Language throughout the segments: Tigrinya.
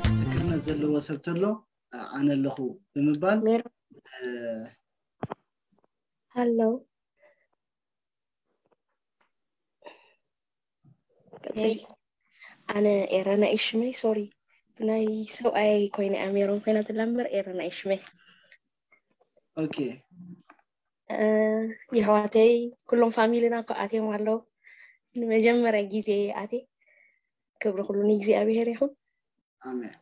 ምስክርነት ዘለዎ ሰብ ተሎ ኣነ ኣለኹ ብምባል ሜሮ እ፣ ሃሎ ቀጽሊ። ኣነ ኤረና እዩ ሽመይ። ሶሪ፣ ብናይ ሰብኣይ ኮይነ እያ ሜሮን ኮይና ትላ እምበር ኤረና እዩ ሽመይ። ኦኬ እ፣ የሕዋተይ ኩሎም ፋሚሊና እኮ ኣትዮም ኣለዉ። ንመጀመርያ ግዜ ኣቴ። ክብሪ ኩሉ ንእግዚኣብሔር ይኹን። ኣሜን።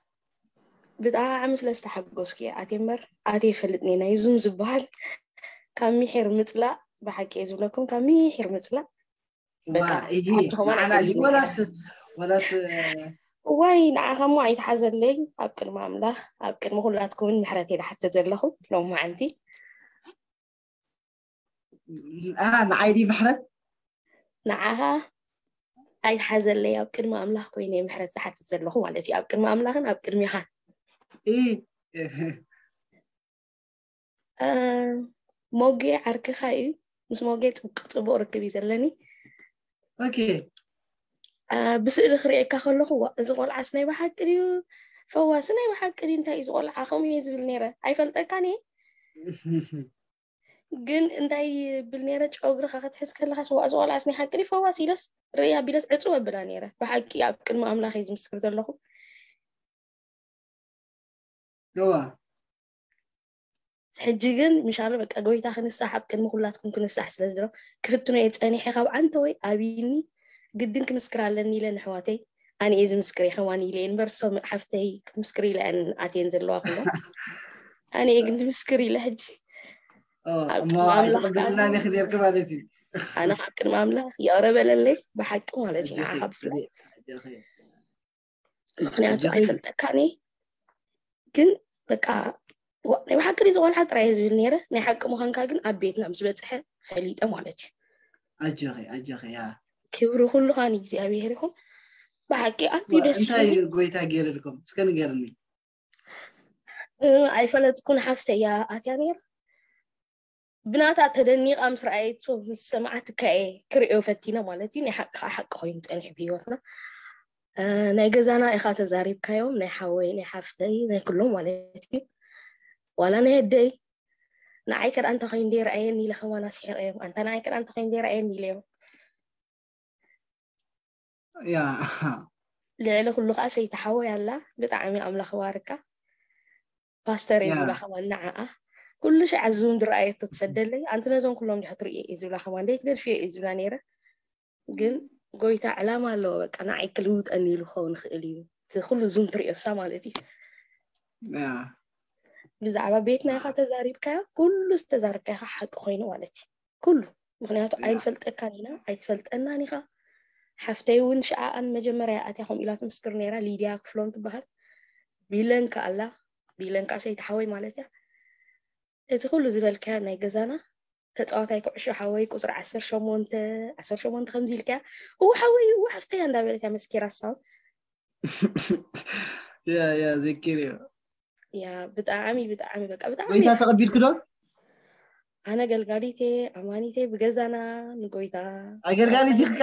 ብጣዕሚ ስለ ዝተሓጎስኩ እየ ኣቴ እምበር ኣቴ ይፈልጥ ነይ ናይ ዙም ዝበሃል ካብ ሚሒር ምፅላእ ብሓቂ እየ ዝብለኩም ካብ ሚሒር ምፅላእ ዋ በቃ ይሄ ሓንቲ ከማን ንዓና ድዩ ኣይፈልጥን ወላስ ወላስ እዋይ ንዓኻሞ ኣይትሓዘለይ ኣብ ቅድሚ ኣምላኽ ኣብ ቅድሚ ኩላትኩምን ምሕረት እየ ዝሓትት ዘለኹ ሎማዓንቲ ኣ ንዓይ ድዩ ምሕረት ንዓኻ ኣይትሓዘለይ ኣብ ቅድሚ ኣምላኽ ኮይነ እየ ምሕረት ዝሓትት ዘለኹ ማለት እዩ ኣብ ቅድሚ ኣምላኽን ኣብ ቅድሚኻን እ እ፣ ሞጌ ዓርክኻ እዩ ምስ ሞጌ ፅቡቅ ፅቡቅ ርክብ እዩ ዘለኒ ኦኬ እ፣ ብስእሊ ክርእየካ ከለኹ ዋ፣ እዚ ቆልዓስ ናይ ብሓቂ ድዩ ፈዋሲ ናይ ብሓቂ ድዩ እንታይ እዩ እዚ ቆልዓ ከምኡ እየ ዝብል ነይረ ኣይፈልጠካን እየ ግን እንታይ ይብል ነይረ ጨጉርኻ ክትሕዝ ከለኻስ ዋ እዚ ቆልዓስ ናይ ሓቂ ድዩ ፈዋሲ ኢለስ ርእይ ኣቢለስ ዕፅው ኣብላ ነይረ ብሓቂ ኣብ ቅድሚ ኣምላኽ እየ ዝምስክር ዘለኹ እዋ ሕጂ ግን ምሻሎ በቃ ጎይታ ክንሳሕ ኣብ ቅድሚ ኩላትኩም ክንሳሕ ስለ ዝብሎ ክፍትኖ እየ ፀኒሐ ካብ ዓንተወይ ኣብይኒ ግድን ክምስክር ኣለኒ ኢለ ንሕዋተይ ኣነ እየ ዝምስክር እየ ከማን ኢለ እየ እምበር ሰሙዕ ሓፍተይ ክትምስክር ኢለ እየን ኣትየን ዘለዋ ኩለን ኣነ እየ ግን ዝምስክር ኢለ ሕጂ ኣብ እሞ ቅድሚ ኣምላኽ ኣይተቐበልና ከኣ ኔክ ኔርክ ማለት እዩ ኣነ ካብ ቅድሚ ኣምላኽ ይቕረ በለለይ ብሓቂ ማለት እዩ ንዓኻ ብፍላይ ምክንያቱ ኣይፈልጠካን እየ ግን በቃ ዋ- ናይ ብሓቂ ድዩ ዝቆልዓ ጥራይ እየ ዝብል ነይረ ናይ ሓቂ ምዃንካ ግን ኣብ ቤትና ምስ በፅሐ ፈሊጠ ማለት እዩ ኣጆኺ ኣጆኺ ያ ክብሪ ኩሉኻ ንእግዚኣብሔር ይኹን ብሓቂ ኣዝዩ ደስ እንታይ ይብል ጎይታ ገይርልኩም እስከ ንገርኒ እ፣ ኣይፈለጥኩን ሓፍተ እያ ኣትያ ነይራ ብናታ ተደኒቓ ምስ ረኣየቶ ምስ ሰማዓትካ እየ ክርእዮ ፈቲነ ማለት እዩ ናይ ሓቂ ከዓ ሓቂ ኮይኑ ፀኒሑ ብሂወትና እ፣ ናይ ገዛና ኢኻ ተዛሪብካዮም ናይ ሓወይ ናይ ሓፍተይ ናይ ኩሎም ማለት እዩ ዋላ ናይ ኣደይ ንዓይ ከዳ እንተ ኮይኑ ደይ ረኣየኒ ኢለ ከማን ኣስሒቀዮም ኣንታ ንዓይ ከዳ እንተ ኮይኑ ደይ ረኣየኒ ኢለዮም ያ ልዕሊ ኩሉ ከዓ ሰይቲ ሓወይ ኣላ ብጣዕሚ ኣምላኽ ይባርካ ፓስተር እየ ያ ዝብላ ከማን ንዓኣ ኩሉ ሻዕ ዙም ዝረኣየቶ ትሰደለይ ኣንቲ ነዞም ኩሎም ድሕትርኢ እየ ዝብላ ከማን ደይ ትገድፍዮ እየ ዝብላ ነይረ ግን ጎይታ ዕላማ ኣለዎ በቃ ንዓይ ክልውጠኒ ኢሉ ክኸውን ይኽእል እዩ እቲ ኩሉ ዙም ትርእዮሳ ማለት እዩ ያ ብዛዕባ ቤትና ኢኻ ተዛሪብካዮ ኩሉ ዝተዛረብካዮ ሓቂ ኮይኑ ማለት እዩ ኩሉ ምክንያቱ ያ ኣይንፈልጠካን ኢና ኣይትፈልጠናን ኢኻ ሓፍተይ እውን ሽዓኣን መጀመርያ ኣትያ ከምኡ ኢላ ትምስክር ነይራ ሊድያ ክፍሎም ትበሃል ቢለንካ ኣላ ቢለንካ ሰይቲ ሓወይ ማለት እያ እቲ ኩሉ ዝበልካዮ ናይ ገዛና ተፃዋታይ ኩዕሾ ሓወይ ቁፅሪ ዓሰርተ ሸሞንተ ዓሰርተ ሸሞንተ ከምዚ ኢልካያ እው ሓወይ እው ሓፍተያ እንዳበለት እያ መስኪራ ሳውን ያ ያ ዘኪር እዩ ያ ብጣዕሚ ብጣዕሚ በቃ ብጣዕሚ ጎይታ ተቐቢልክ ዶ ኣነ ገልጋሊቴ ኣማኒቴ ብገዛና ንጎይታ ኣገልጋሊት ኢኽካ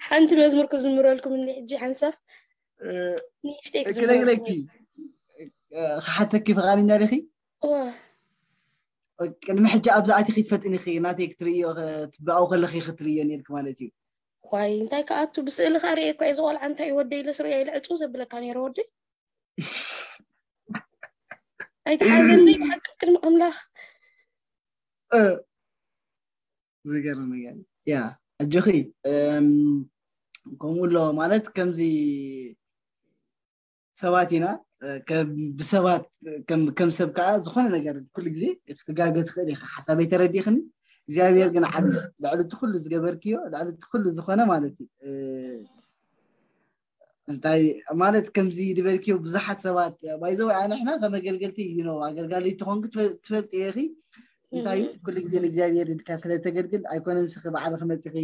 ሓንቲ መዝሙር ክዝምረልኩም እኒ ሕጂ ሓንሳብ እ፣ ንእሽተይ ክዝምረልኩም ክነግረኪ እ፣ ክሓተኪ ፈቓደኛ ዲኺ እዋ ቅድሚ ሕጂ ኣብዚ ኣቲኺ ትፈልጥኒ ኢኺ ናተይ ክትርእዮ ትብኣው ከለኺ ክትርእዮ ነርክ ማለት እዩ ዋይ እንታይ ከኣቱ ብስእሊ ከኣ ርእየ እኳ እየ ዝቆልዓ እንታይ እዩ ወደይ ኢለስ ርእየ ኢለ ዕፁ ዘብለካ ነይረ ወደይ ኣይተሓዘለይ ብሓቂ ቅድሚ ኣምላኽ እ፣ ዝገርም ነገር ያ ኣጆኺ እም፣ ከምኡ ኣሎ ማለት ከምዚ ሰባት ኢና እ፣ ከም ብሰባት ከም ከም ሰብ ከዓ ዝኾነ ነገር ኩሉ ግዜ ክትጋገ ትኽእል ኢኻ ሓሳበይ ተረዲእኽኒ እግዚኣብሔር ግን ዓብ ልዕሊ እቲ ኩሉ ዝገበርክዮ ልዕሊ እቲ ኩሉ ዝኾነ ማለት እዩ እ፣ እንታይ ማለት ከምዚ ዝበልክዮ ብዙሓት ሰባት ባይዘወ ኣንሕና ከም ኣገልገልቲ you know ኣገልጋሊ ትኾንክ ትፈልጥ ኢኺ እንታይ እዩ? ኩሉ ግዜ ንእግዚኣብሔር ኢልካ ስለተገልግል ኣይኮነን። ስኺ ባዕልኺ መፂኺ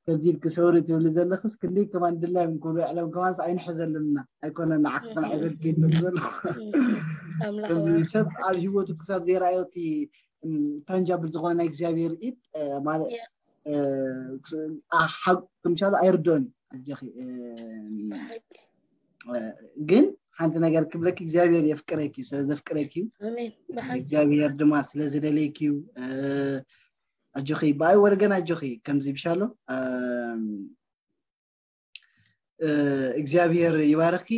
ከምዚ ኢልኪ ሰውሪ ትብሊ ዘለኽስ ክንደይ ከማን ድላዮም ክብሉ ዕለም ከማንስ ኣይንሕዘሉና። ኣይኮነን ንዓኺ ክንሕዘልኪ ይብል ዘሎ። ኣምላኽ ከምዚ ሰብ ኣብ ህይወቱ ክሳብ ዘይረኣዮ እቲ ታንጃብል ዝኾነ ናይ እግዚኣብሔር ኢድ ማለት ሓቁ ምሻሉ ኣይርዶን እዩ። ኣጆኺ ግን ሓንቲ ነገር ክብለኪ እግዚኣብሔር የፍቅረኪ እዩ። ስለ ዘፍቅረኪ እዩ። ኣሜን። ብሓቂ እግዚኣብሔር ድማ ስለ ዝደለይኪ እዩ። ኣጆኺ ብኣይ ወገን ኣጆኺ ከምዚ ብሻሎ እግዚኣብሔር ይባርኽኪ።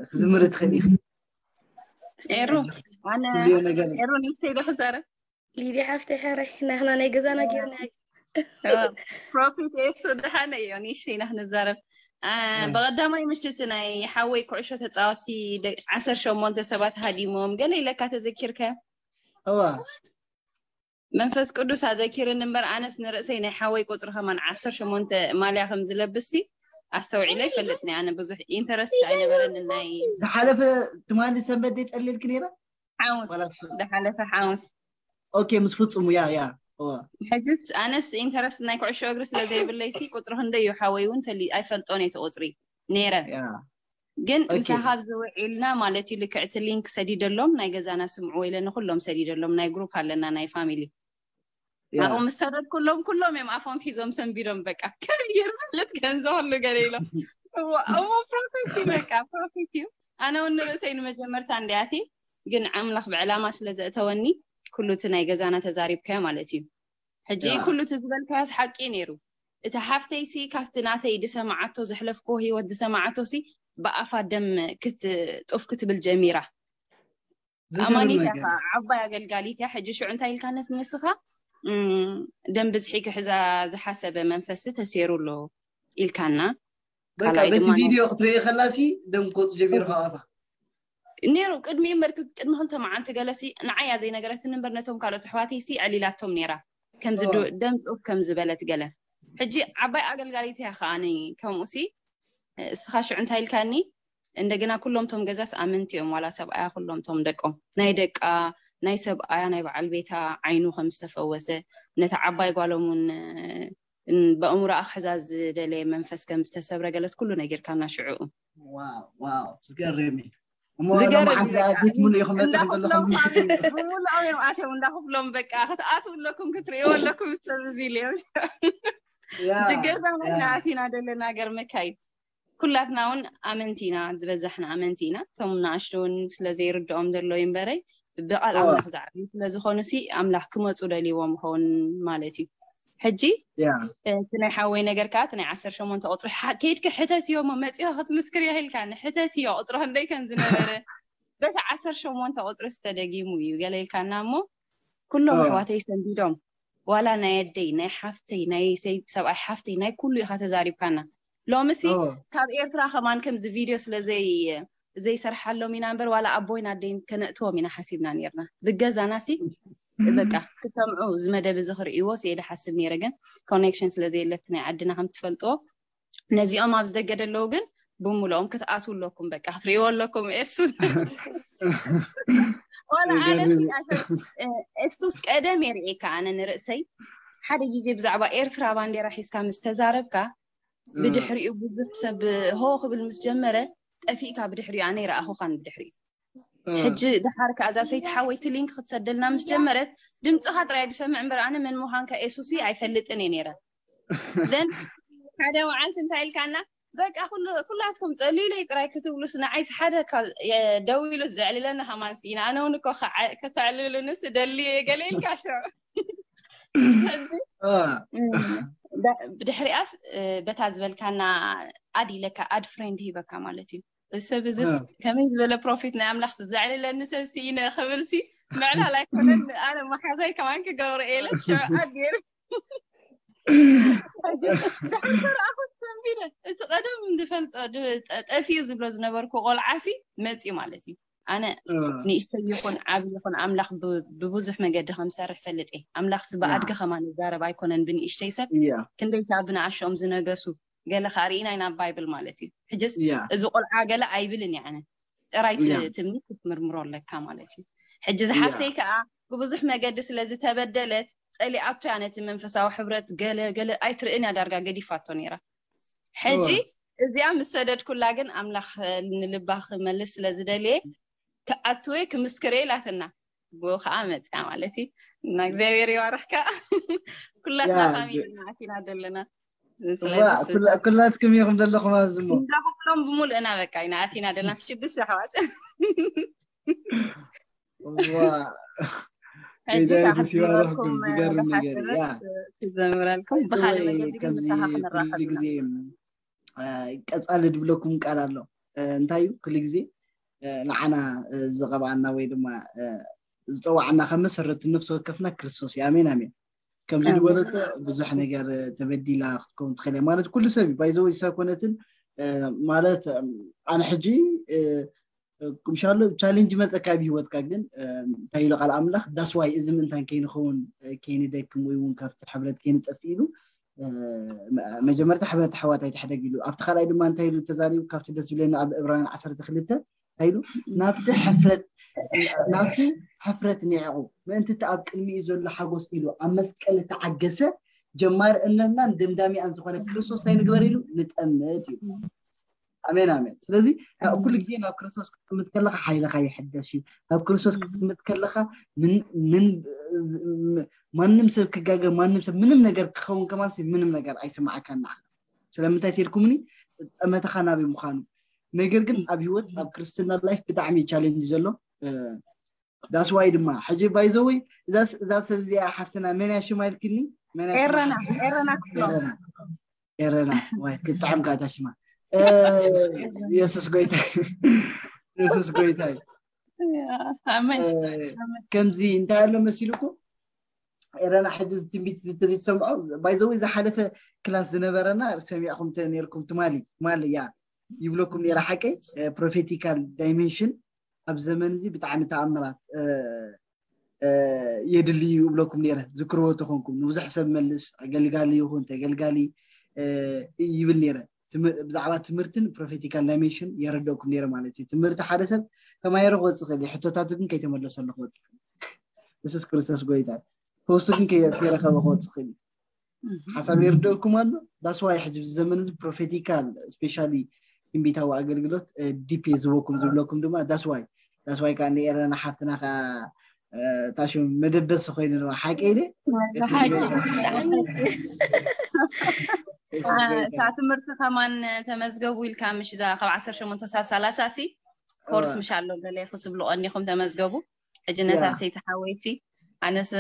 ክትዝምሪ ትኽእል ኢኺ። ኤሩ ኣነ ትብልዮ ነገር ኤሩ ንእሽተይ ዶ ክዛረብ? ሊድያ ሓፍተይ ሓራይ ናህና ናይ ገዛና ጌርና ፕሮፊት ኤሱ ደሓነ እዮ ንእሽተይ ኢና ክንዛረብ። አ፣ እ። ብቐዳማይ ምሽት ናይ ሓወይ ኩዕሾ ተፃወቲ ደ- ዓሰርተ ሸሞንተ ሰባት ሃዲሞም ገለ ኢለካ ተዘኪርካዮ? እዋ መንፈስ ቅዱስ ኣዘኪርኒ እምበር ኣነስ ንርእሰይ ናይ ሓወይ ቁፅሪ ከማን ዓሰርተ ሸሞንተ ማልያ ከም ዝለብስ ኣስተውዒለ ይፈልጥኒ። ኣነ ብዙሕ ኢንተረስት ኣይነበረኒ ናይ ዝሓለፈ ትማሊ ሰንበት ደ ጸሊልኪ ነይራ ሓሙስ ዋላስ ዝሓለፈ ሓሙስ ኦኬ ምስ ፍጹሙ ያ ያ እዋ ሕጅስ ኣነስ ኢንተረስት ናይ ኩዕሾ እግሪ ስለ ዘይብለይሲ ቁፅሪ ክንደይ እዩ ሓወይ እውን ፈሊ ኣይፈልጦን እቲ ቁፅሪ ነይረ ያ ግን ኦኬ። ምሳኻ ኣብዚ ውዒልና ማለት እዩ ልክዕቲ ሊንክ ሰዲደሎም ናይ ገዛና ስምዕዎ ኢለ ንኩሎም ሰዲደሎም ናይ ግሩፕ ኣለና ናይ ፋሚሊ ያ ኣብኡ ምስ ሰደድኩሎም ኩሎም እዮም ኣፎም ሒዞም ሰንቢዶም በቃ ከቢር ማለት ገንዘ ከሉ ገለ ኢሎም እሞ ፕሮፌት እዩ በቃ ፕሮፌት እዩ ኣነ እውን ንርእሰይ ንመጀመርታ እንዲያቲ ግን ኣምላኽ ብዕላማ ስለ ዘእተወኒ ኩሉ እቲ ናይ ገዛና ተዛሪብካዮ ማለት እዩ ሕጂ ያ። ኩሉ እቲ ዝበልካዮስ ሓቂ እዩ ነይሩ እቲ ሓፍተይሲ ካብቲ ናተይ ዝሰማዓቶ ዘሕለፍክዎ ህይወት ዝሰማዓቶሲ ብኣፋ ደም ክትጡፍ ክትብል ጀሚራ ዝገርም ኣማኒት እያ ነገር ከዓ ዓባይ ኣገልጋሊት እያ ሕጂ ሽዑ እንታይ ኢልካነስ ንስኻ እም፣ ደም ብዝሒ ክሕዛ ዝሓሰበ መንፈስ ተሰይሩ ኣሎ ኢልካና በቃ ካልኣይ በቲ ድማ ቪድዮ ክትርኢ ከላሲ ደም ክወፅ ጀሚሩ ካብ ኣፋ ነይሩ ቅድሚ እምበር ቅድሚ ክልተ መዓልቲ ገለሲ ንዓያ ዘይነገረትኒ እምበር ነቶም ካልኦት ኣሕዋተይሲ ዕሊላቶም ነይራ ከምዚ ኦ። ዶ- ደም ጡፍ ከም ዝበለት ገለ ሕጂ ዓባይ ኣገልጋሊት እያ ከዓ ከምኡሲ እስኻ ሽዑ እንታይ ኢልካኒ እንደገና ኩሎም ቶም ገዛስ ኣመንቲ እዮም ዋላ ሰብኣያ ኩሎም ቶም ደቆም ናይ ደቃ ናይ ሰብኣያ ናይ በዓል ቤታ ዓይኑ ከም ዝተፈወሰ ነታ ዓባይ ጓሎም እውን በእምሮኣ ክሕዛ ዝደለየ መንፈስ ከም ዝተሰብረ ገለት ኩሉ ነጊርካና ሽዑኡ ዋው ዋው ዝገርም እዩ እሞ ዝገርም ሎማዓንቲ እዩ በቃ። ኣትሊት ሙሉ ይኽመፅኹም እንዳኽፍሎም ዘለኹም ካብ ብሙሉኦም እዮም ኣትዮም እንዳኽፍሎም በቃ ክትኣትዉ ኣለኩም ክትርእይዎ ኣለኩም ስለዚ ኢለ እዮም ያ ድገዛ ያ ናይና ኣቲና ዘለና ገርመካ እዩ ኩላትና እውን ኣመንቲ ኢና ዝበዛሕና ኣመንቲ ኢና እቶም ንኣሽቱ እውን ስለ ዘይርድኦም ዘሎ እዩ እምበረይ ብቃል እዋ። ኣምላኽ ዝዓብዩ ስለ ዝኾኑ ሲ ኣምላኽ ክመፁ ደልይዎም ይኸውን ማለት እዩ ሕጂ ያ እቲ ናይ ሓወይ ነገር ከዓ እቲ ናይ ዓሰርተ ሸሞንተ ቁፅሪ ሓ- ከይድኪ ሕተት እዮ እሞ መፂኦ ክትምስክር የኽልካ ንሕተት እዮ ቁፅሪ ክንደይ ከም ዝነበረ በቲ ዓሰርተ ሸሞንተ ቁፅሪ ዝተደጊሙ እዩ ገለ ኢልካና እሞ ኩሎም ኦ። ኣሕዋተይ ሰንቢዶም ዋላ ናይ ኣደይ ናይ ሓፍተይ ናይ ሰይ- ሰብኣይ ሓፍተይ ናይ ኩሉ ኢኻ ተዛሪብካና ሎምሲ ኦ። ካብ ኤርትራ ከማን ከምዚ ቪድዮ ስለ ዘይ ዘይሰርሓሎም ኢና እምበር ዋላ ኣቦይን ኣደይን ከነእትዎም ኢና ሓሲብና ነርና ብገዛና ሲ በቃ ክሰምዑ እዚ መደብ እዚ ክርእይዎ ስየ ዝሓስብ ነይረ ግን ኮኔክሽን ስለ ዘየለት ናይ ዓድና ከም ትፈልጥዎ ነዚኦም ኣብ ዝደገ ደለዉ ግን ብሙሉኦም ክትኣትዉ ኣለኩም በቃ ክትርእይዎ ኣለኩም ኤሱስ ዋላ ኣነሲ ኤሱስ ቀደም የርእየካ ኣነ ንርእሰይ ሓደ ግዜ ብዛዕባ ኤርትራ ባንዴራ ሒዝካ ምስ ተዛረብካ ብድሕሪኡ ብዙሕ ሰብ ሆ ክብል ምስ ጀመረ ጠፊእካ ብድሕሪኡ ኣነ ይረኣኹኻን ብድሕሪኡ ሕጂ ድሓር ከኣ እዛ ሰይቲ ሓወይቲ ሊንክ ክትሰደልና ምስ ጀመረት ድምፅኻ ጥራይ ዝሰምዕ እምበር ኣነ መን ምዃንካ ኤሱሲ ኣይፈልጥን እየ ነይረ ዘን ሓደ መዓልቲ እንታይ ኢልካና በቃ ኩሉ- ኩላትኩም ፀልዩለይ ጥራይ ክትብሉስ ንዓይስ ሓደ ካብ- የ- ደው ኢሉስ ዘዕልለኒ ከማን ስኢነ ኣነ እውን እኮ ከዓ- ከተዕልሉንስ እደሊ እየ ገለ ኢልካ ሽዑ ሕጂ አ፣ እም፣ ዳ- ብድሕሪኣስ እ፣ በታ ዝበልካና ኣድ ኢለካ ኣድ ፍሬንድ ሂበካ ማለት እዩ እዚ ሰብ እዚስ እ። ከመይ ዝበለ ፕሮፊት ናይ ኣምላኽ ዘዕልለኒ ሰብ ስኢነ ክብል ሲ ምዕላል ኣይኮነን ኣነ መሓዛይ ከማን ክገብሮ እየ ኢለ ሽዑ ኣድ ገይሩ ድሓር ተረኣኹት ሰንቢደ እቲ ቀደም ዝፈልጦ ድ- ጠ- ጠፊኡ ዝብሎ ዝነበርኩ ቆልዓ ሲ መፅዩ ማለት እዩ ኣነ እ። ንእሽተይ ይኹን ዓብዪ ይኹን ኣምላኽ ብ- ብብዙሕ መገዲ ከም ዝሰርሕ ፈልጥ እየ ኣምላኽሲ ብኣድጊ ከማን ይዛረብ ኣይኮነን ብንእሽተይ ሰብ እያ ክንደይ ካብ ብንኣሽኦም ዝነገሱ ገለ ከዓ ርኢና ኢና ኣብ ባይብል ማለት እዩ ሕጅስ እያ እዚ ቆልዓ ገለ ኣይብልን እየ ኣነ ጥራይ እቲ እያ ትምህርት ክትምርምሮ ኣለካ ማለት እዩ ሕጂ ዝሓፍተይ ከዓ ብብዙሕ መገዲ ስለ ዝተበደለት ጸሊኣቶ እያ ነቲ መንፈሳዊ ሕብረት ገለ ገለ ኣይትርእን እያ ዳርጋ ገዲፋቶ ነይራ። ሕጂ እዚኣ ምስ ሰደድኩላ ግን ኣምላኽ ንልባ ክመልስ ስለ ዝደልየ ክኣትወ ክምስክረ ኢላትና ብኡ ከዓ መፅያ ማለት እዩ። እና እግዚኣብሔር ይባርኽካ። ኩላትና ፋሚሊ ኢና ኣቲና ዘለና። ስለዚ ኩላትኩም ኢኹም ዘለኹም ኣብዚ ሞ እንዳ ኩሎም ብምሉእና በቃ ኢና ኣቲና ዘለና ሽዱሽተ ኣሕዋት። ሕጂ ከዓ ክትዝምረልኩም ዝገርም ነገር እያ። ክዘምረልኩም ብካልእ መገዲ ግን ምሳኻ ክንራኸብ ግዜ ቀጻሊ ድብለኩም ቃል ኣሎ። እንታይ እዩ? ኩሉ ግዜ ንዓና ዝቐብኣና ወይ ድማ ዝፀዋዕና ካብ መሰረቱ ነፍሲ ወከፍና ክርስቶስ እዩ። ኣሜን ኣሜን። ከምዚ ዝበለቶ ብዙሕ ነገር ተበዲላ ክትከውን ትኽእል እያ ማለት ኩሉ ሰብ እዩ። ባይዘወይ ሳኮነትን ማለት ኣነ ሕጂ ምሻሎ ቻሌንጅ መፀካ ኣብ ህይወትካ ግን እንታይ ኢሉ ቃል ኣምላኽ ዳስዋይ እዚ ምእንታን ከይንኸውን ከይንደክም ወይ እውን ካብቲ ሕብረት ከይንጠፍ ኢሉ መጀመርታ ሕብረት ኣሕዋት ኣይትሕደግ ኢሉ ኣብቲ ካልኣይ ድማ እንታይ ኢሉ ተዛሪቡ ካብቲ ደስ ዝብለኒ ኣብ ዕብራውያን ዓሰርተ ክልተ እንታይ ኢሉ ናብቲ ሕፍረት ናብቲ ሕፍረት ኒዕቑ ምእንቲ እቲ ኣብ ቅድሚኡ ዘሎ ሓጎስ ኢሉ ኣብ መስቀል እተዓገሰ ጀማሪ እምነትናን ደምዳሚኣን ዝኾነ ክርስቶስ እንታይ ንግበር ኢሉ ንጠምት እዩ ኣሜን ኣሜን ስለዚ ኩሉ ግዜ ናብ ክርስቶስ ክትምት ከለካ ሓይልካ ይሕደሽ እዩ ናብ ክርስቶስ ክትምት ከለካ ምን ማንም ሰብ ክጋገ ማንም ሰብ ምንም ነገር ክኸውን ከማን ምንም ነገር ኣይስማዓካን ንዓኻ ስለምንታይ ተልኩምኒ ጠመተኻ ናበይ ምዃኑ ነገር ግን ኣብ ህይወት ኣብ ክርስትና ላይፍ ብጣዕሚ ቻሌንጅ ዘሎ that's why ድማ ሕጂ by the way እዛ ሰብ እዚኣ ሓፍትና መን እያ ሽማ ኢልክኒ መን እያ ኤረና ኤረና ክፍሎም ኤረና ኤረና ወይ ክትጣዕም ካታ ሽማ የሱስ ጎይታ የሱስ ጎይታ ኣሜን ከምዚ እንታይ ኣሎ መሲልኩ ኤረና ሕጂ ትንቢት ተዘይትሰምዖ by the way ዝሓለፈ ክላስ ዝነበረና ሰሚዕኩም ነርኩም ትማሊ ትማሊ ያ ይብለኩም ነራ ሓቀይ ፕሮፌቲካል ዳይሜንሽን ኣብ ዘመን እዚ ብጣዕሚ ተኣምራት የድልዩ ይብለኩም ነረ ዝክርዎ ተኾንኩም ንብዙሕ ሰብ መልስ ኣገልጋሊ ይኹን ተገልጋሊ ይብል ነረ ብዛዕባ ትምህርትን ፕሮፌቲካል ዳይሜንሽን የረደእኩም ነረ ማለት እዩ ትምህርቲ ሓደ ሰብ ተማየረ ክወፅእ ክእል ሕቶታት ግን ከይተመለሰሉ ክወፅእ የሱስ ክርስቶስ ጎይታ ፈውሲ ግን ከይረኸበ ክወፅእ ክእል ሓሳብ የርደእኩም ኣሎ that's why ሕጂ ዘመን እዚ ፕሮፌቲካል ስፔሻሊ ትንቢታዊ ኣገልግሎት ዲፕ ዝቦኩም ዝብለኩም ድማ that's why that's why ከዓ ንኤረና ሓፍትና ከዓ ታሽም መደበሲ ኮይኑ ድማ ሓቂ ኢለ እታ ትምህርቲ ከማን ተመዝገቡ ኢልካ ምሽ እዛ ካብ ዓሰርተ ሸሞንተ ሳብ ሰላሳ ሲ ኮርስ ምሽ ኣሎ ገለ ክትብሉ ቀኒኹም ተመዝገቡ ሕጂ ነታ ሰይቲ ሓወይቲ ኣነስ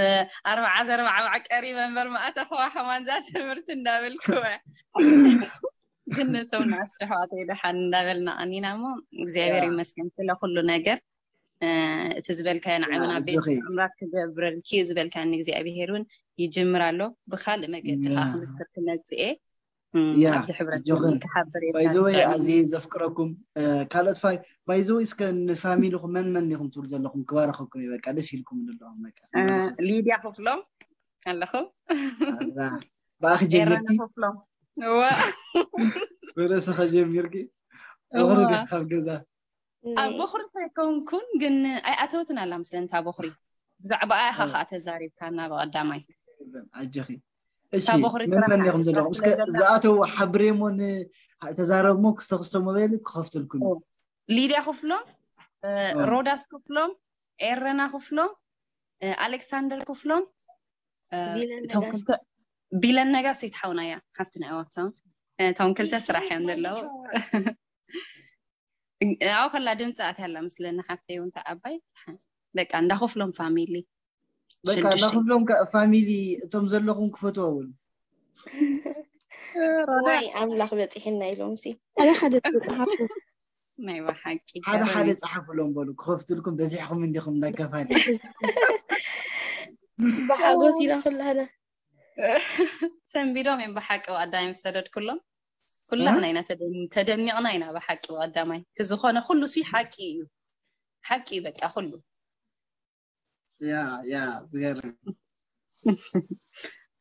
ኣርብዓ ዘርባዕባዕ ቀሪበ እምበር መኣተኽዋ ከማን እዛ ትምህርቲ እንዳበልክወ ግን ነቶም ንኣሽቱ ኣሕዋተይ ደሓን እንዳበልና ቀኒና እሞ እግዚኣብሔር ይመስገን ስለ ኩሉ ነገር እቲ ዝበልካዮ ንዓይውን ኣብ ቤት ኣምራት ክገብረልኪ እዩ ዝበልካኒ እግዚኣብሔር እውን ይጅምር ኣሎ ብካልእ መገዲ ከዓ ክምስክር ክመፅእ እየ ኣብዚ ሕብረት ክሓብር ባይዘወይ ኣዝየ ዘፍቅረኩም ካልኦት ፋይ ባይዘወይ እስከ ንፋሚሊኹም መን መን ኢኹም ትብሉ ዘለኹም ክባረኸኩም እዩ በቃ ደስ ኢልኩም ዘለኹም በቃ ሊድያ ክፍሎም ኣለኹ ብኣኺ ጀመርቲ ክፍሎም ብርእስኸ ጀሚርኪ ወኽሪ ዲኺ ካብ ገዛ ኣብ ቦኽሪ ኣይከውንኩን ግን ኣይኣተወትን ኣላ ምስለን እታ ቦኽሪ ብዛዕባ ኣያ ኻ ከዓ ተዛሪብካና ብቐዳማይ ኣጀኺ እሺ መን መን ኢኹም ዘለኹም እስከ ዝኣተው ሓብሬሞ ተዛረብሞ ክስተ ክስተ ሞባይል ክኸፍትልኩም ሊድያ ክፍሎም ሮዳስ ክፍሎም ኤረና ክፍሎም ኣሌክሳንደር ክፍሎም ቢለን ነጋስ ይትሓውና እያ ሓፍትና እዋብቶም እቶም ክልተ ስራሕ እዮም ዘለዉ ኣብኡ ከላ ድምፂ ኣትያ ኣላ ምስለኒ ሓፍተይ እውን ተዓባይ በቃ እንዳክፍሎም ፋሚሊ በቃ እንዳክፍሎም ፋሚሊ እቶም ዘለኹም ክፈትዋ እውን ዋይ ኣምላኽ በፂሕና ኢሎም ሲ ሓደ ሓደ ዝፀሓፉ ናይ ብሓቂ ሓደ ሓደ ፀሓፉሎም በሉ ክኸፍትልኩም በዚሕኩም እንዲኹም እንዳከፋል ብሓጎስ ኢና ኩላህና ሰንቢዶም እዮም ብሓቂ ኣዳይ ምስ ሰደድኩሎም ኩላህና ኢና ተደኒቕና ኢና ብሓቂ ቀዳማይ እቲ ዝኾነ ኩሉ ሲ ሓቂ እዩ ሓቂ እዩ በቃ ኩሉ ያ ያ ዝገርም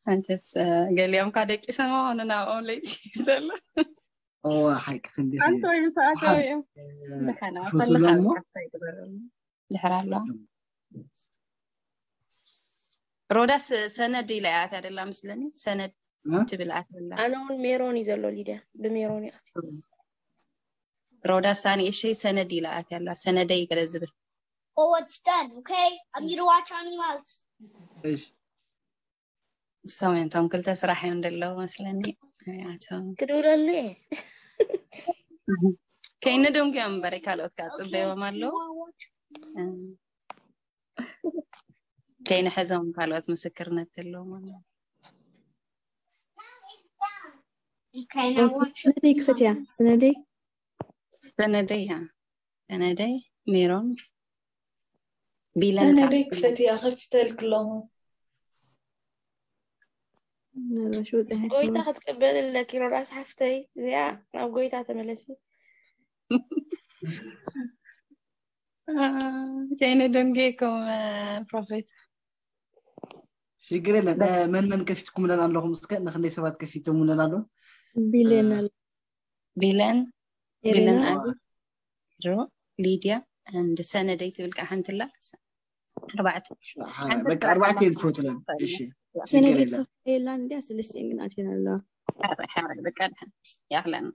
ሓንተስ ገሊኦም ካ ደቂሶም ሆነ ናብኦም ለይቲ ዘሎ እዋ ሓቂ ክንዲ ኣንተ ወይ ምስ ኣተው እዮም ደሓና ከለካ ሓፍታ ይግበረሉ ድሕር ኣሎ ሮዳስ ሰነድ ኢላ እያ ኣትያ ደላ ምስለኒ። ሰነድ እ? ትብል ኣትያ ኣላ። ኣነ እውን ሜሮን እዩ ዘሎ ሊድያ፣ ብሜሮን እዩ ኣትዩ። ሮዳስ ኣንእሸይ ሰነድ ኢላ ኣትያ ኣላ። ሰነደይ ገለ ዝብል። Oh, it's done, okay? I'm here to watch animals. እሺ። እሶም እዮም እቶም ክልተ ስራሕ እዮም ደለዉ መስለኒ። ኣቶም ክድውለሉ እየ። ከይንደንጉዮም እምበር ካልኦት ከዓ ፅበዮም ኣለዉ። ከይንሕዞም ካልኦት ምስክርነት ዘለዎም ኣለዉ። Okay, now watch. ስነደይ ክፈትያ። ስነደይ ሰነደይ እያ። ሰነደይ ሜሮን ቢለን ሰነደይ ከዓ ክፈትያ ከፊተልክ ኣለኹ። ምናልባሽ ወፅያ ጎይታ ክትቅበል ኣለኪ ሮዳስ ሓፍተይ፣ እዚኣ ናብ ጎይታ ተመለሲ። ከይንደንጉየኩም ፕሮፌት ሽግር የለን። እ፣ መን መን ከፊትኩምለን ኣለኹም? እስከ ንክንደይ ሰባት ከፊቶምለን ኣለዉ? ቢሌን ኣሎ። ቢለን ኤሌና ቢለን ኣሉ ሮ ሊድያ እንድ ሰነደይ ትብል ከዓ ሓንቲ ኣላ። ኣርባዕተ በቃ ኣርባዕተ እዮም ክፈቱለን። እሺ፣ ሽግር ሰነደይ የለን። ትኸፍለላ እንዲያ ሰለስቲኤን ግን ኣትየን ኣለዋ። ሓራይ ሓራይ በቃ ድሓን ያኽለን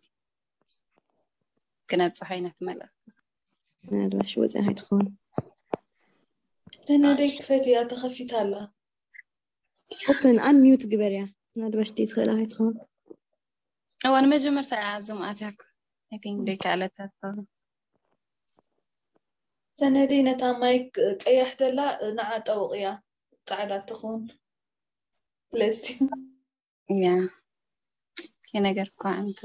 ክነብፅሖ ኢና ትመለስ። ምናልባሽ ወፅያ ኣይትኸውን። ሰነደይ ክፈትያ ተኸፊታ ኣላ። ኦፕን ኣን ሚውት ግበርያ። ምናልባሽ ደይ ትኽእላ ኣይትኸውን። እዋ ንመጀመርታ እያ ዙም ኣትያኩ። I think ደይ ከኣለታ ትኸውን። ሰነደይ ነታ ማይክ ቀያሕ ደላ ንዓ ጠውቕያ፣ ፃዕዳ ትኹን። ስለዚ እያ ከነገር እኳ እንተ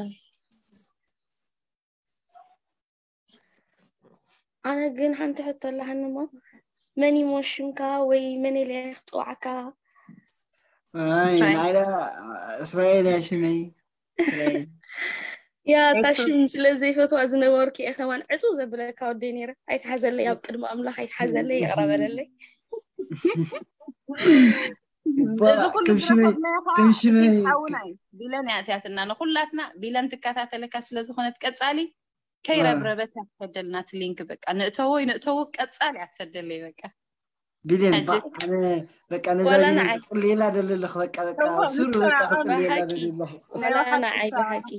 ኣነ ግን ሓንቲ ሕቶ ኣለሃኒ እሞ፣ መን ይሞ ሽምካ ወይ መን ኢለ ክፅዋዕካ? ኣይ፣ እስራኤል። ናይዳ እስራኤል እያ ሽመይ። እስራኤል። ያ እታ እሱ ሽም ስለ ዘይፈትዋ ዝነበርኩ እየ ከማን ዕፅው ዘብለካ ወደይ ነይረ። ኣይትሓዘለይ፣ ኣብ ቅድሚ ኣምላኽ ኣይትሓዘለይ፣ ይቕረ በለለይ። እባ፣ እዚ ኩሉ ከም ሽመይ ዝረኸብናዮ ከዓ ከም ሽመይ ሴት ሓውና እዩ። ቢለን እያ ኣትያትና ንኩላትና። ቢለን ትከታተለካ ስለ ዝኾነት ቀፃሊ ከይረብረበት እያ ትሰደልና እቲ ሊንክ። በቃ ንእተዎ ንእተዎ ቀፃሊ እያ ትሰደለይ። በቃ ቢሌን ሕጂ ባ፣ ኣነ በቃ ነዛ ዋላ ቢሌን ንዓይ ክፅልየላ ደለለኽ በቃ በቃ እዋ ሱር ንሳ በቃ ኣብ ናይ ክፅልየላ ብሓቂ ደለለኹ። ናይ ዋላ ብሓቂ ንዓይ እሳ ብሓቂ